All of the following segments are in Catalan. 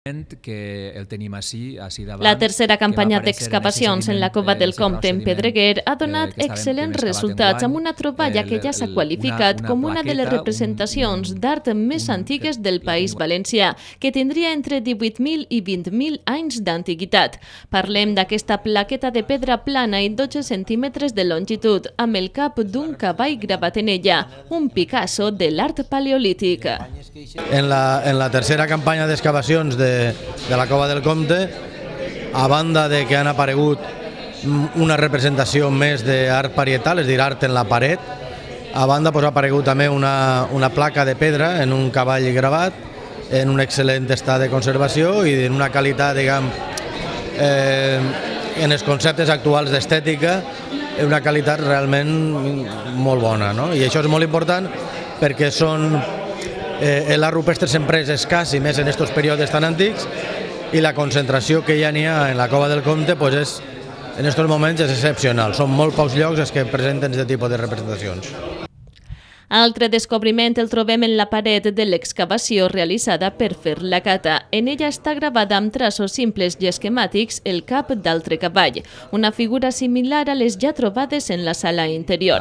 que el tenim així davant. La tercera campanya d'excavacions en la Cova del Comte en Pedreguer ha donat excel·lents resultats amb una troballa que ja s'ha qualificat com una de les representacions d'art més antigues del País Valencià, que tindria entre 18.000 i 20.000 anys d'antiguitat. Parlem d'aquesta plaqueta de pedra plana i 12 centímetres de longitud, amb el cap d'un cavall gravat en ella, un Picasso de l'art paleolític. En la tercera campanya d'excavacions de la Cova del Comte, a banda de que han aparegut una representació més d'art parietal, és a dir, art en la paret, a banda ha aparegut també una placa de pedra en un cavall gravat, en un excel·lent estat de conservació i en una qualitat, diguem, en els conceptes actuals d'estètica, una qualitat realment molt bona, no? I això és molt important perquè l'art rupestre sempre és escàs, i més en aquests períodes tan antics, i la concentració que ja n'hi ha en la Cova del Comte en aquests moments és excepcional. Són molt pocs llocs els que presenten aquest tipus de representacions. Altre descobriment el trobem en la paret de l'excavació realitzada per fer la cata. En ella està gravada amb traços simples i esquemàtics el cap d'altre cavall, una figura similar a les ja trobades en la sala interior.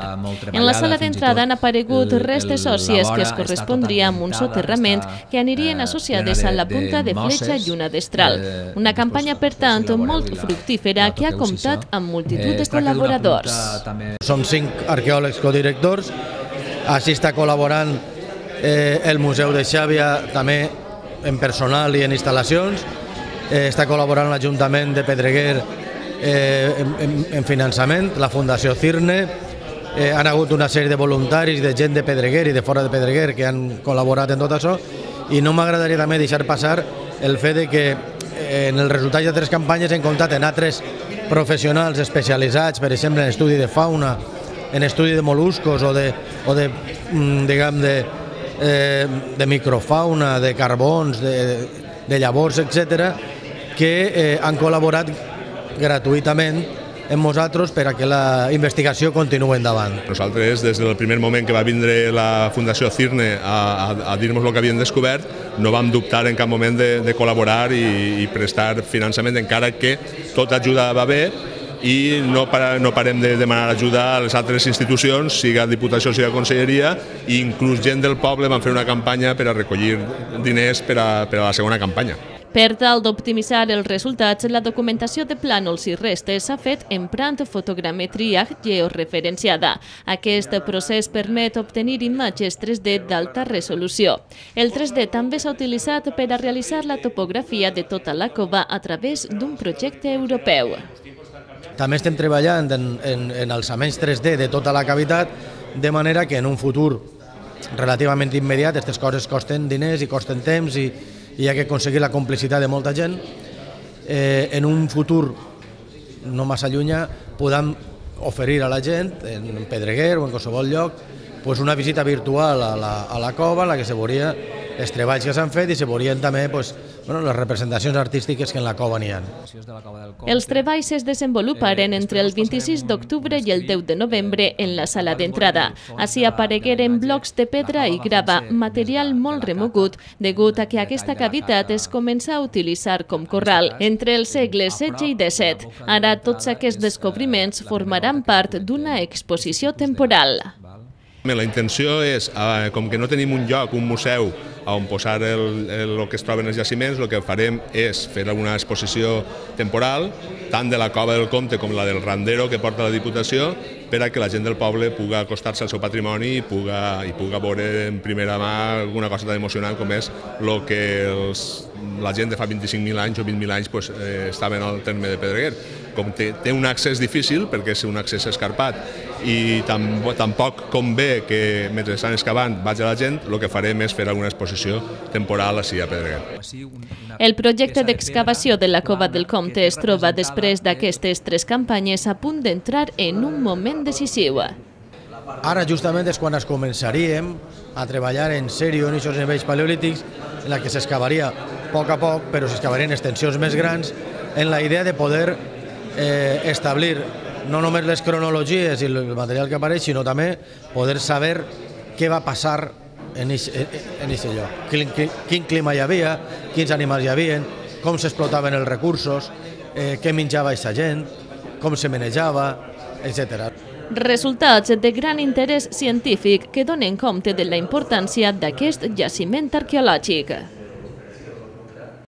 En la sala d'entrada han aparegut restes òssies que es correspondria amb un soterrament que anirien associades a la punta de fletxa i una destral. Una campanya, per tant, molt fructífera que ha comptat amb multitud de col·laboradors. Som 5 arqueòlegs codirectors. Així està col·laborant el Museu de Xàbia també en personal i en instal·lacions. Està col·laborant l'Ajuntament de Pedreguer en finançament, la Fundació Cirne. Han hagut una sèrie de voluntaris, de gent de Pedreguer i de fora de Pedreguer que han col·laborat en tot això. I no m'agradaria també deixar passar el fet que en el resultat de 3 campanyes hem comptat en altres professionals especialitzats, per exemple en estudi de fauna, en estudi de mol·luscos o de microfauna, de carbons, de llavors, etc., que han col·laborat gratuïtament amb nosaltres per a que la investigació continuï endavant. Nosaltres, des del primer moment que va vindre la Fundació Cirne a dir-nos el que havien descobert, no vam dubtar en cap moment de col·laborar i prestar finançament, encara que tota ajuda va bé, i no parem de demanar ajuda a les altres institucions, siga Diputació, siga Conselleria, i inclús gent del poble van fer una campanya per a recollir diners per a la segona campanya. Per tal d'optimitzar els resultats, la documentació de plànols i restes s'ha fet emprant fotogrametria georreferenciada. Aquest procés permet obtenir imatges 3D d'alta resolució. El 3D també s'ha utilitzat per a realitzar la topografia de tota la cova a través d'un projecte europeu. També estem treballant en alçaments 3D de tota la cavitat, de manera que en un futur relativament immediat aquestes coses costen diners i costen temps i hi ha que aconseguir la complicitat de molta gent. En un futur no massa llunyà podem oferir a la gent, en Pedreguer o en qualsevol lloc, una visita virtual a la cova en la que se veuria els treballs que s'han fet i se veurien també les representacions artístiques que en la cova n'hi ha. Els treballs es desenvoluparen entre el 26 d'octubre i el 10 de novembre en la sala d'entrada. Així aparegueren blocs de pedra i grava, material molt remogut, degut a que aquesta cavitat es comença a utilitzar com corral entre els segles XVI i XVII. Ara tots aquests descobriments formaran part d'una exposició temporal. La intenció és, com que no tenim un lloc, un museu, on posar el que es troben els jaciments, el que farem és fer una exposició temporal, tant de la Cova del Comte com la del Randero que porta la Diputació, per a que la gent del poble pugui acostar-se al seu patrimoni i pugui veure en primera mà alguna cosa tan emocionant com és el que la gent de fa 25.000 anys o 20.000 anys estaven al terme de Pedreguer. Com té un accés difícil, perquè és un accés escarpat, i tampoc convé que mentre estan excavant vagi la gent, el que farem és fer alguna exposició temporal així a Pedreguer. El projecte d'excavació de la Cova del Comte es troba després d'aquestes 3 campanyes a punt d'entrar en un moment decisiu. Ara justament és quan es començaríem a treballar en sèrio en aquests nivells paleolítics, en la que s'excavaria a poc, però s'excavarien extensions més grans, en la idea de poder establir no només les cronologies i el material que apareix, sinó també poder saber què va passar en aquest lloc. Quin clima hi havia, quins animals hi havia, com s'explotaven els recursos, què menjava aquesta gent, com se manejava, etc. Resultats de gran interès científic que donen compte de la importància d'aquest jaciment arqueològic.